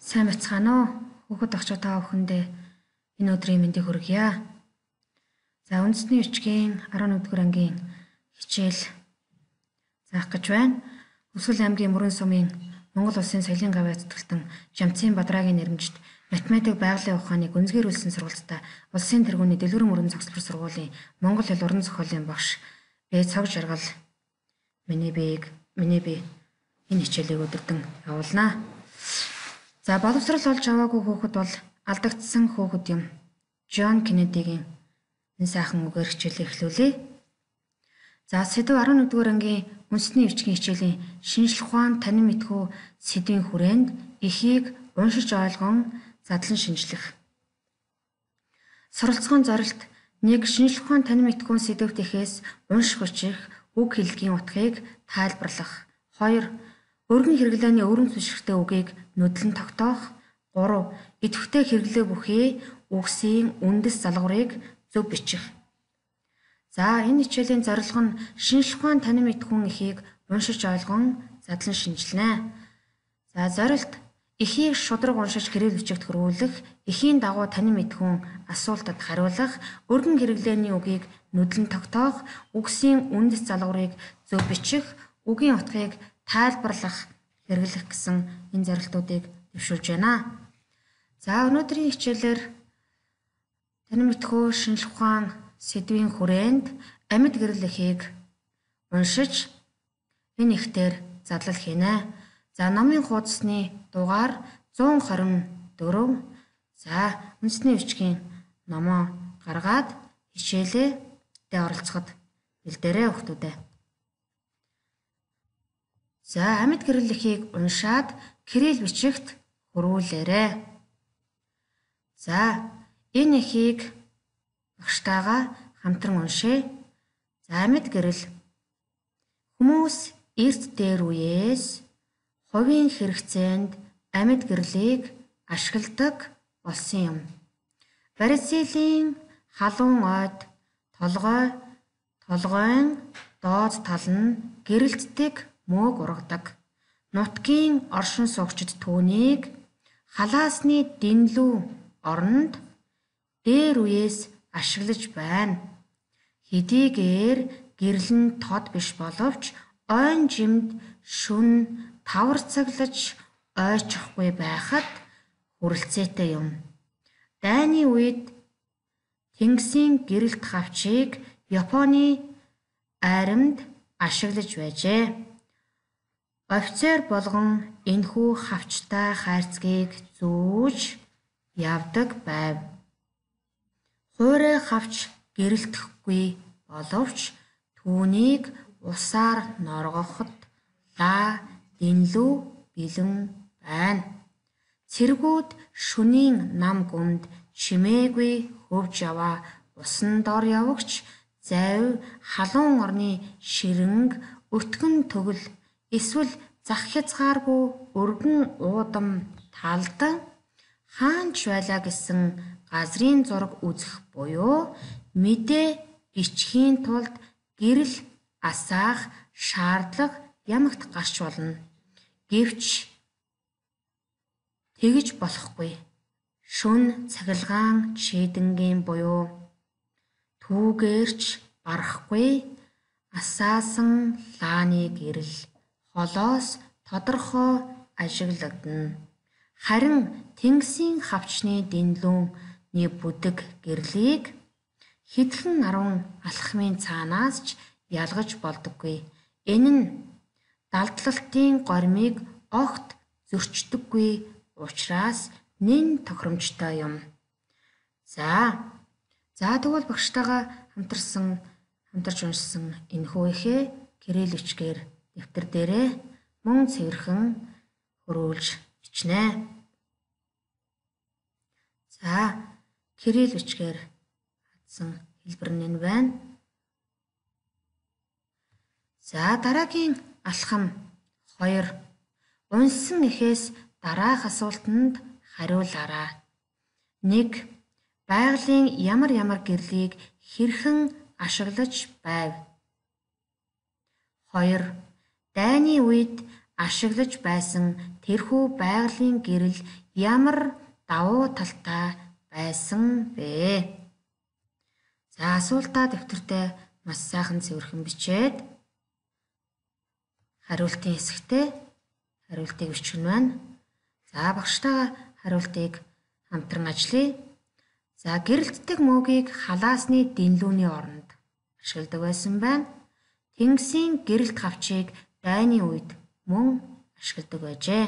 Сайн бацгаана уу? Хүүхэд охчоо та бүхэндээ энэ өдрийн мэндийг хүргье. За үндэсний бичгийн 11-р ангийн хичээл заах гэж байна. Өсгөл аймгийн Мөрөн сумын Монгол Улсын соёлын гавь эзэтгэлтэн Жамцын Бадрагийн нэрмжид математик байгалийн ухааны гүнзгийрүүлсэн сургалтад улсын тэргүүний дэлгэрэн мөрөн цогцлбор сургуулийн Монгол хэл уран зохиолын багш Б цаг жаргал миний би энэ хичээлийг өдөрдөн явуулнаа. За боловсрал олж аваагүй хүүхэд бол алдагдсан хүүхэд юм. Джон Кеннедигийн энэ сайхан үгээр хичээлээ эхлүүлье. За сэдв 11-р ангийн үндэсний бичгийн хичээлийн шинжлэх ухаан танин мэдхүү сэдвийн хүрээнд эхийг уншиж ойлгон задлан шинжлэх. Суралцгааны зорилт 1. Шинжлэх ухаан танин мэдхүүн сэдвт эхээс унших хүчих үг хэллэгийн утгыг тайлбарлах. 2. Өргөн хэрэглээний өргөн түшигтэй үгийг нүдлэн тогтоох. 3. Идэвхтэй хэрэглээ бүхий үгсийн үндэс залгуурыг зөв бичих. За энэ хичээлийн зорилго нь шинжлэх ухаан танин мэдхүүн эхийг уншиж ойлгон задлан шинжилнэ. За зорилт эхийг шудраг уншиж гэрэл бичигт хөрвүүлэх, эхийн дагуу танин мэдхүүн асуултад хариулах, өргөн хэрэглээний үгийг нүдлэн тогтоох, үгсийн үндэс залгуурыг зөв бичих, үгийн утгыг тайлбарлах, хэрэглэх гэсэн энэ зорилтуудыг дэвшүүлж байна. За өнөөдрийн хичээлээр танин мэдхүү шинжлэх ухаан сэдвийн хүрээнд амьд гэрэл эхийг уншиж энэ эхтэр задлал хийнэ. За номын хуудасны дугаар 124. За үндэсний бичгийн номоо гаргаад хичээлээ оролцоход бэлдээрэй хүүхдүүдээ. За амьд гэрэл эхийг уншаад кирилл бичигт хөрвүүлээрэй. За энэ эхийг багштайгаа хамтран уншъя. За амьд гэрэл. Хүмүүс эрт дээр үеэс хувийн хэрэгцээнд амьд гэрлийг ашигладаг болсон юм. Барилсилийн халуун ойд толгойн доод тал нь гэрэлтдэг мөөг ургадаг. Нутгийн оршин суугчид түүнийг халаасны дэнлүү оронд дээр үеэс ашиглаж байна. Хэдийгээр гэрэл нь тод биш боловч ойн жимд шүн таварцаглаж ойчихгүй байхад хүрэлцээтэй юм. Дайны үед Тэнгисийн гэрэлт хавчийг Японы айрамд ашиглаж байжээ. Офицер болгон энэхүү хавчтай хайрцгийг зүүж явдаг байв. Хуурай хавч гэрэлтэхгүй боловч түүнийг усаар норгоход дэнлүү бэлэн байна. Цэргүүд шөнийн нам гүмд чимээгүй хөвж яваа усан дор явагч завь халуун орны ширэнг өтгөн төгөл эсвэл зах хязгааргүй өргөн уудам талд хаанч байлаа гэсэн газрын зураг үзэх буюу мэдээ бичихийн тулд гэрэл асаах шаардлага ямагт гарч болно. Гэвч тэгж болохгүй. Шүн цахилгаан шийдэнгийн буюу түүгээрч барахгүй асаасан лааны гэрэл холоос тодорхой ажиглагдана. Харин Тэнгисийн хавчны дэнлүүний бүдэг гэрлийг хэдхэн 10 алхмын цаанаас ч ялгаж болдоггүй. Энэ нь далдлалтын гормыг огт зөрчдөггүй учраас нэн тохиромжтой юм. За тэгвэл багштайгаа хамтарч уншсан энэхүү эхээ кирилл бичгээр дэвтэр дээрээ мөн цэвэрхэн хөрвүүлж бичнэ. За кирилл бичгээр хатсан хэлбэр нь байна. За дараагийн алхам 2. Унсан эхээс дараах асуултанд хариулаарай. 1. Байгалийн ямар гэрлийг хэрхэн ашиглаж байв? 2. Дайны үед ашиглаж байсан тэрхүү байгалийн гэрэл ямар давуу талтай байсан бэ? За асуултаа дэвтэртээ маш сайхан цэвэрхэн бичээд хариултын хэсэгтээ хариултыг бичгэн байна. За багштайгаа хариултыг хамтран ажиллая. За гэрэлтдэг мөгийг халаасны дэнлүүний оронд ашигладаг байсан байна. Тэнгисийн гэрэлт хавчийг дайны үед мөн ашигладаг байжээ.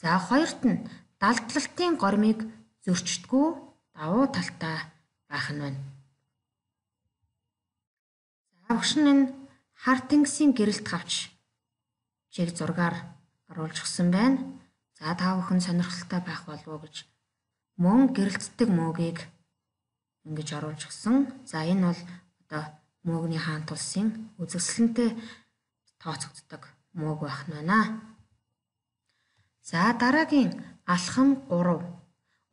За хоёрт нь далдлалтын гормыг зөрчдгүү давуу талтай байх нь байна. За багш нь энэ хар тэнгисийн гэрэлт хавч чиг зургаар оруулж өгсөн байна. За та бүхэн сонирхолтой байх болов уу гэж мөн гэрэлтдэг мөгийг ингэж оруулж өгсөн. За энэ бол одоо мөөгний хаант улсын үзэсгэлэнтэй тооцогддог мөөг байх нь байна. За дараагийн алхам 3.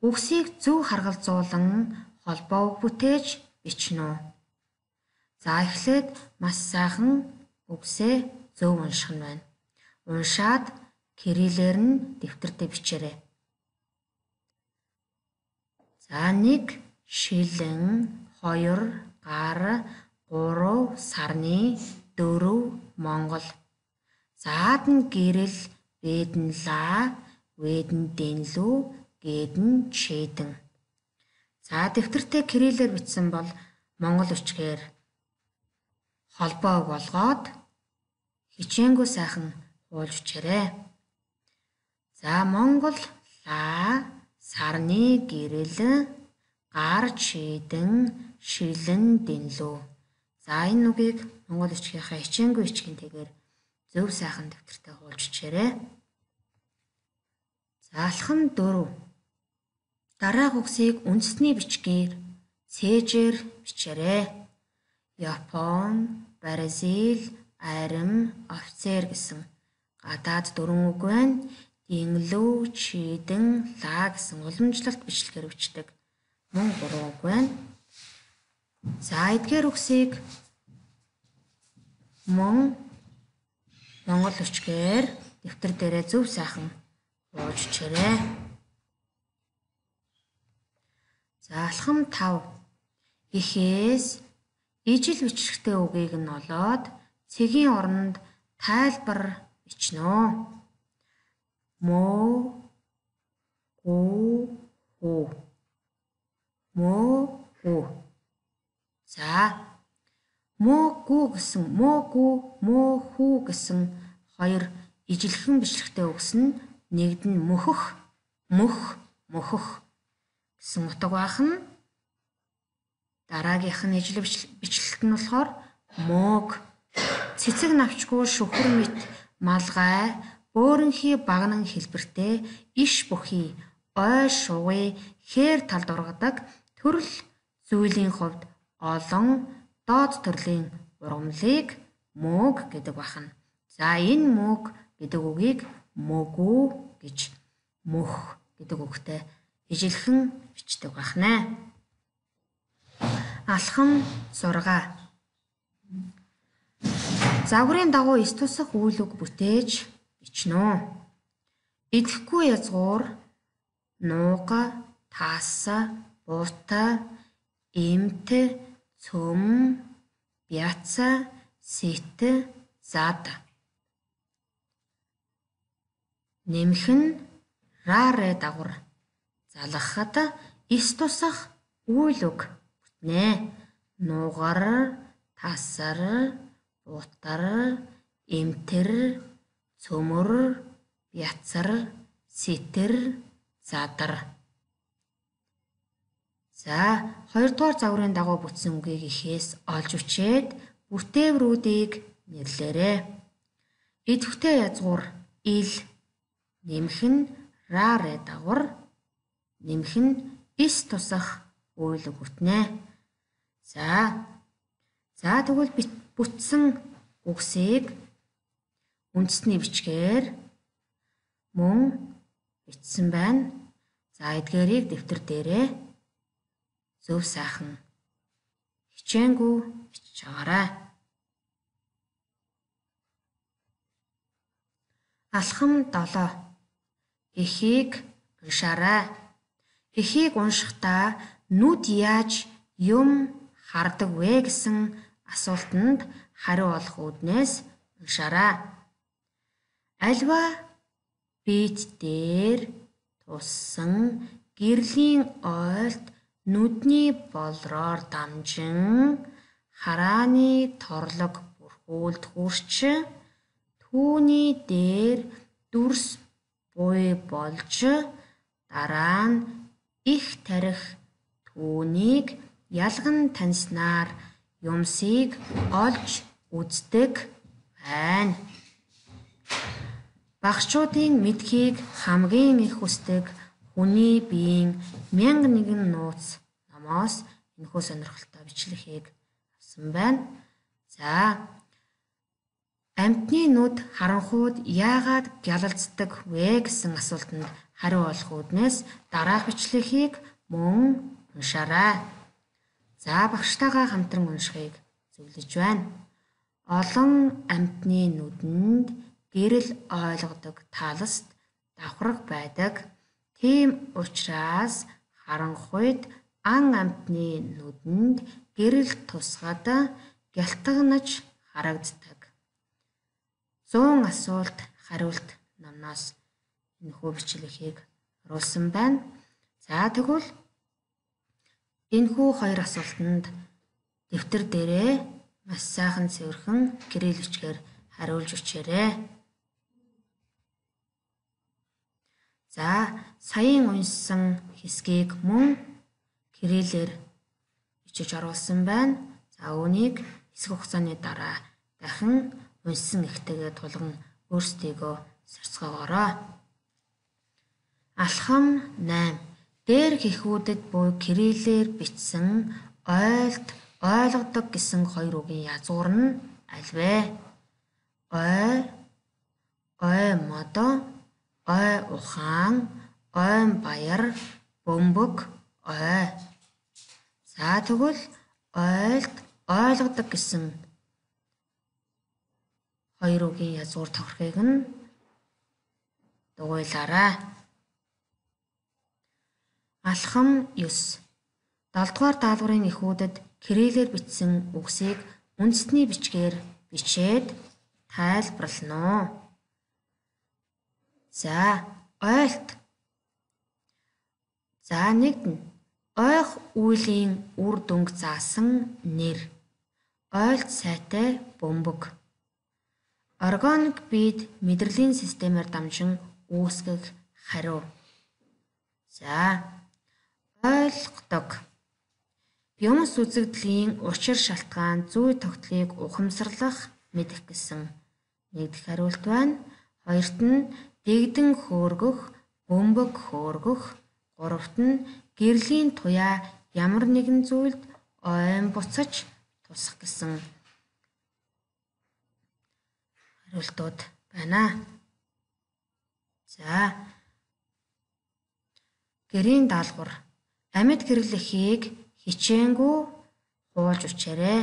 Үгсийг зөв харгалзуулан холбоо үг бүтээж бичнэ үү? За эхлээд маш сайхан үгсээ зөв унших нь байна. Уншаад кириллээр нь дэвтэртээ бичээрэй. За 1 шилэн, 2 гар, 3 сарны, 4 Монгол. Заад нь гэрэл, бэд нь лаа, вэд нь дэнлүү, гээд нь чэдэн. За дэвтэртээ кириллээр бичсэн бол монгол үчгээр холбоог болгоод хичээнгүй сайхан хуулж бичээрэй. За монгол лаа, сарны гэрэл, гар чэдэн, шилэн дэнлүү. За энэ үгийг монгол үчгийнхаа хичээнгүй бичгэнтэйгээр зөв сайхан дэвтэртээ хуулж бичээрэй. За алхам 4. Дараах үгсийг үндэсний бичгээр цээжээр бичээрэй. Япон, Бразил, арим, офицер гэсэн гадаад 4 үг байна. Дэнлүү, чэдэн, лаа гэсэн уламжлалт бичлэгээр бичдэг мөн 3 үг байна. За эдгээр үгсийг мөн монгол үчгээр дэвтэр дээрээ зөв сайхан хуулж бичээрэй. За алхам 5. Эхээс ижил бичлэгтэй үгийг нь олоод цэгийн оронд тайлбар бичнэ. Мөө, гүү, хүү. Мөө, гүү. За мөөгүй гэсэн мөөгүй, мөөхүү гэсэн хоёр ижилхэн бичлэгтэй үгс нь нэгд нь мөхөх, мөх, мөхөх гэсэн утга байх нь. Дараагийнх нь ижил бичлэлт нь болохоор мөөг. Цэцэг навчгүй шүхэр мэт малгай бөөрөнхий багнан хэлбэртэй иш бүхий ой шугый хээр талд ургадаг төрөл зүйлийн хувьд олон доод төрлийн ургамлыг мөөг гэдэг байна. За энэ мөөг гэдэг үгийг мөгүү гэж мөх гэдэг үгтэй ижилхэн бичдэг байна. Алхам 6. Загварын дагуу эс тусах үйл үг бүтээж бичнэ. Идэхгүй язгуур, нууга, тааса, буута, эмт, цөм, бяца, сэт, зад. Нэмэх нь раарэ дагвар залгахад эс тусах үйл үг бүтнэ. Нуугар, тасар, буутар, эмтэр, цөмөр, бяцар, сэтэр, задар. За 2 дугаар загварын дагуу бүтсэн үгийг ихээс олж үчээд бүтээврүүдийг нэрлээрэй. Идэвхтэй язгуур ил, нэмэх нь раарэ дагвар, нэмэх нь эс тусах үйл үг бүтнэ. За тэгвэл бүтсэн үгсийг үндэсний бичгээр мөн бичсэн байна. За эдгээрийг дэвтэр дээрээ зөв сайхан хичээнгүй бичиж аваарай. Алхам 7. Эхийг уншаарай. Эхийг уншихдаа нүд яаж юм хардаг вэ гэсэн асуултанд хариу олох үүднээс уншаарай. Альва биет дээр туссан гэрлийн ойлт нүдний болроор дамжин харааны торлог бүрхүүлд хүрч түүний дээр дүрс буй болж дараа нь их тарих түүнийг ялган таньснаар юмсыг олж үздэг байна. Багшчуудын мэдхийг хамгийн их хүсдэг хүний биеийн 1001 нууц номоос энэхүү сонирхолтой бичлэгийг авсан байна. За, амьтны нүд харанхууд яагаад гялалздаг вэ гэсэн асуултанд хариу олох үүднээс дараах бичлэгийг мөн уншаарай. За, багштайгаа хамтран уншихыг зөвлөж байна. Олон амьтны нүдэнд гэрэл ойлгодог таласт давхраг байдаг. Тийм учраас харанхуйд ан амьтны нүдэнд гэрэл тусгад гялтганаж харагддаг. 100 асуулт хариулт номноос энэхүү бичлэгийг оруулсан байна. За, тэгвэл энэхүү хоёр асуултанд дэвтэр дээрээ маш сайхан цэвэрхэн гэрэл бичгээр хариулж өчээрэй. За, саяын уншсан хэсгийг мөн гэрэлээр бичиж оруулсан байна. За, үүнийг хэсэг хугацааны дараа дахин уншсан ихтэйгээ тулган өөрсдийгөө сарцгаагаарай. Алхам 8. Дээр хэхүүдэд буй кириллээр бичсэн ойлт ойлгодог гэсэн хоёр үгийн язгуур нь аль вэ? Ой модо, ой ухаан, ойн баяр, бөмбөг, ой. За, тэгвэл ойлт ойлгодог гэсэн хоёр үгийн язгуур тохирхыг нь дугуйлаарай. Алхам 9. 7-дугаар даалгаврын эхүүдэд кириллээр бичсэн үгсийг үндэсний бичгээр бичээд тайлбарлана. За, ойлт. За, нэгдэн. Ойх үйлийн үр дүнг заасан нэр. Ойлт сайтай бөмбөг. Органик биед мэдрэлийн системээр дамжин үүсгэх хариу. За, ойлгодог. Юмс үзэгдлийн учир шалтгаан зүй тогтолыг ухамсарлах мэдэх гэсэн нэгдэх хариулт байна. Хоёрт нь дэгдэн хөөргөх, бөмбөг хөөргөх. Гуравт нь гэрлийн туяа ямар нэгэн зүйлд ойн буцаж тусах гэсэн хариултууд байна. За, гэрийн даалгавар. Амьд гэрлэхийг хичээнгүй хуулж өчээрэй.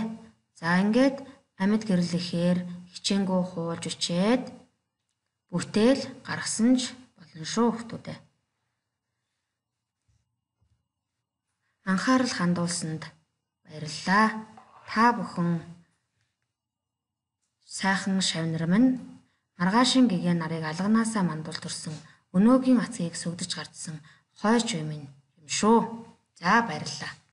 За, ингээд амьд гэрлэхээр хичээнгүй хуулж өчээд бүтээл гаргасан ч болно шүү хүмүүстээ. Анхаарал хандуулсанд баярлалаа. Та бүхэн сайхан шавнар минь маргаашин гэгээ нарыг алганаасаа мандуулж төрсөн өнөөгийн ацгийг сүгдэж гардсан хойч үе минь юм шүү. За, баярлалаа.